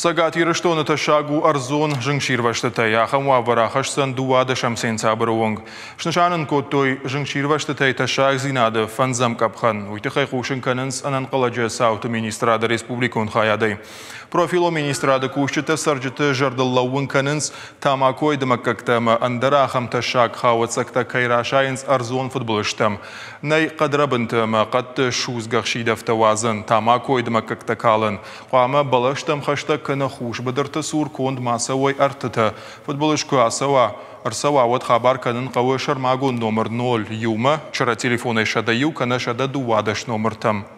Цӕгат Ирыстоны тӕссаг у ӕрдзон зынгсирвӕзтытӕй. Ахӕм уавӕр ахӕсдзӕн 12 сентябры онг. Снысан ын кодтой зынгсирвӕзтытӕй тӕссагдзинады фӕндзӕм къӕпхӕн. Уый тыххӕй хъусын кӕнынц ӕнӕнхъӕлӕджы цауты министрады республикон хайадӕй. Профилон министрады кусджытӕ цӕрджыты зӕрдыл лӕууын кӕнынц, тамакойы дымӕггӕгтӕ ӕмӕ ӕндӕр ахӕм тӕссаг хауӕццӕгтӕ кӕй расайынц ӕрдзон фыдбылызтӕм. Нӕй хъӕдрӕбынты ӕмӕ хъӕдты судзгӕ хсидӕвтӕ уадзӕн, тамакойы дымӕггӕгтӕ калӕн. Хъуамӕ бӕлӕстӕм хӕстӕг кӕнӕ хус быдырты цур конд ма цӕуой ӕртытӕ. Фыдбылыз куы ацӕуа, ӕрцӕуа, уӕд хабар кӕнын хъӕуы сӕрмагонд номыр 0 иумӕ, чырӕ телефонӕй 101 кӕнӕ 112 номыртӕм.